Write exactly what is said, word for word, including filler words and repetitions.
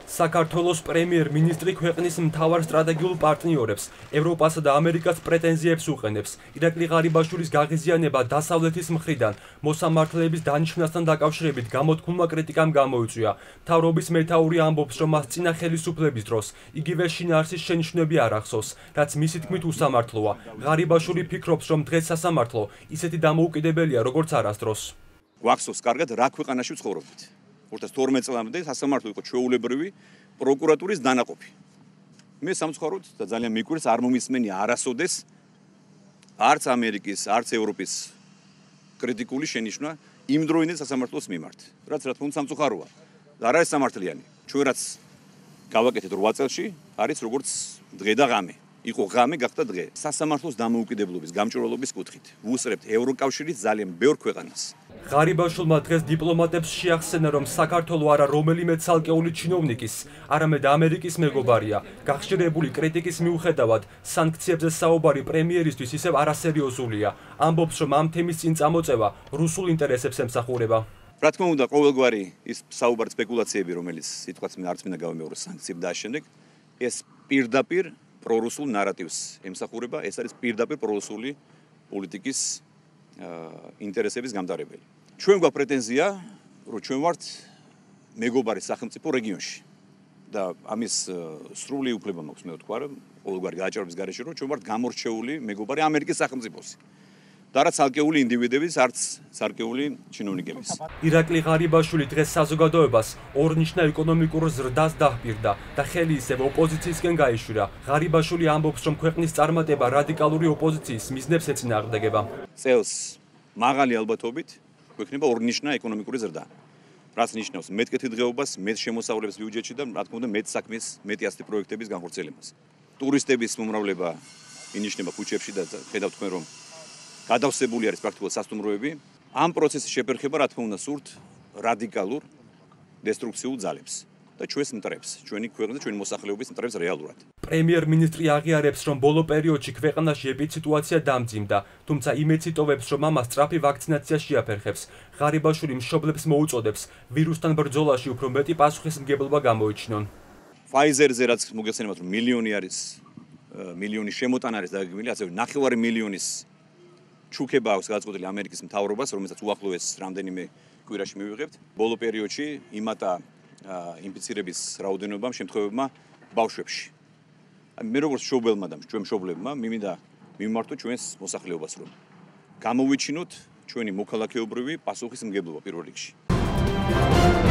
საქართველოს პრემიერ-მინისტრი ქვეყნის მთავარ სტრატეგიულ პარტნიორებს, ევროპასა და ამერიკას პრეტენზიებს უყენებს. ირაკლი ღარიბაშვილის გაღიზიანება დასავლეთის მხრიდან მოსამართლეების დანიშვნასთან დაკავშირებით გამოთქმულმა კრიტიკამ გამოიწვია. მთავრობის მეთაური ამბობს, რომ მას წინა ხელისუფლების დროს იგივე შინაარსის შენიშვნები არ ახსოვს, რაც მისი თქმით უსამართლოა. ღარიბაშვილი ფიქრობს, რომ დღეს სასამართლო ისეთი დამოუკიდებელია, როგორც არასდროს. გვახსოვს კარგად, რა ქვეყანაში ვცხოვრობთ. ორ ათას თორმეტ წლამდე სასამართლო იყო ჩვეულებრივი პროკურატურის დანაყოფი. მე სამწუხაროდ და ძალიან მიკვირს არ მომისმენია არასოდეს არც ამერიკის, არც ევროპის კრიტიკული შენიშვნა იმ დროინდელ სასამართლოს მიმართ. რაც რა თქმა უნდა სამწუხაროა. არ არის სამართლიანი. ჩვენ რაც გავაკეთეთ რვა წელში, არის როგორც დღე და ღამე. იყო ღამე, გახდა დღე. სასამართლოს დამოუკიდებლობის, გამჭვირვალობის კუთხით ვუსწრებთ ევროკავშირის ძალიან ბევრ ქვეყანას. ღარიბაშვილმა დღეს დიპლომატებს შეახსენა, რომ საქართველო არა რომელიმე ცალკეული ჩინოვნიკის, არამედ ამერიკის მეგობარია. გახშირებული კრიტიკის მიუხედავად, სანქციებზე საუბარი პრემიერისთვის ისევ არასერიოზულია. ამბობს, რომ ამ თემის წინ წამოწევა რუსულ ინტერესებს ემსახურება. რა თქმა უნდა, ყოველგვარი ის საუბარი სპეკულაციები, რომელიც სიტყვაც არც მინდა გავიმეოროს სანქციები და ამ შემდეგ, ეს პირდაპირ პრორუსულ ნარატივს ემსახურება, ეს არის პირდაპირ პრორუსული პოლიტიკის ინტერესების გამტარებელი. ჩვენ გვაქვს პრეტენზია, რომ ჩვენ ვართ მეგობარი სახელმწიფო რეგიონში და ამის სრული უფლება მაქვს მე ვთქვა, რომ ყოველგვარი გააჭრობის გარეშე, რომ ჩვენ ვართ გამორჩეული მეგობარი ამერიკის სახელმწიფოსი. და რაც ცალკეული ინდივიდების, არც ცალკეული ჩინოვნიკების. ირაკლი ღარიბაშვილი დღეს საზოგადოებას ორნიშნა ეკონომიკურ ზრდას დაჰპირდა და ხელი ისევ ოპოზიციისკენ გაიშვირა. ღარიბაშვილი ამბობს, რომ ქვეყნის წარმატება რადიკალური ოპოზიციის მიზნებს ეწინააღმდეგება. წელს მაღალი ალბათობით გვექნება ორნიშნა ეკონომიკური ზრდა. რაც ნიშნავს მეტ კეთილდღეობას, მეტ შემოსავლებს ბიუჯეტში და რა თქმა უნდა მეტ საქმის, მეტი ასეთი პროექტების განხორციელებას. ტურისტების მომრავლება ინიშნება ქუჩებში და ხედავთ თქვენ რომ გადავსებული არის პრაქტიკულად სასტუმროები. ამ პროცესის შეფერხება, რა თქმა უნდა, სურთ რადიკალურ დესტრუქციულ ძალებს და ჩვენს მტრებს, ჩვენი ქვეყნის და ჩვენი მოსახლეობის მტრებს რეალურად. პრემიერ-მინისტრი აღიარებს, რომ ბოლო პერიოდში ქვეყანაში ეპიდსიტუაცია დამძიმდა, თუმცა იმედს იტოვებს, რომ ამას სწრაფი ვაქცინაცია შეაფერხებს. ღარიბაშვილი მშობლებს მოუწოდებს ვირუსთან ბრძოლაში უფრო მეტი პასუხისმგებლობა გამოიჩინონ. Pfizer-ზე რაც მოგეხსენებათ, რომ მილიონი არის, მილიონი შემოტანა არის დაგეგმილი, ასევე ნახევარი მილიონის ჩუქება აქვს გადაწყვეტილი ამერიკის მთავრობას, რომელსაც უახლოეს რამდენიმე კვირაში მივიღებთ. ბოლო პერიოდში იმატა ინფიცირების რაოდენობამ შემთხვევებმა ბავშვებში. მე როგორც მშობელმა და ჩვენ მშობლებმა მიმინდა მიმართოთ ჩვენს მოსახლეობას, რომ გამოვიჩინოთ ჩვენი მოქალაქეობრივი პასუხისმგებლობა პირველ რიგში.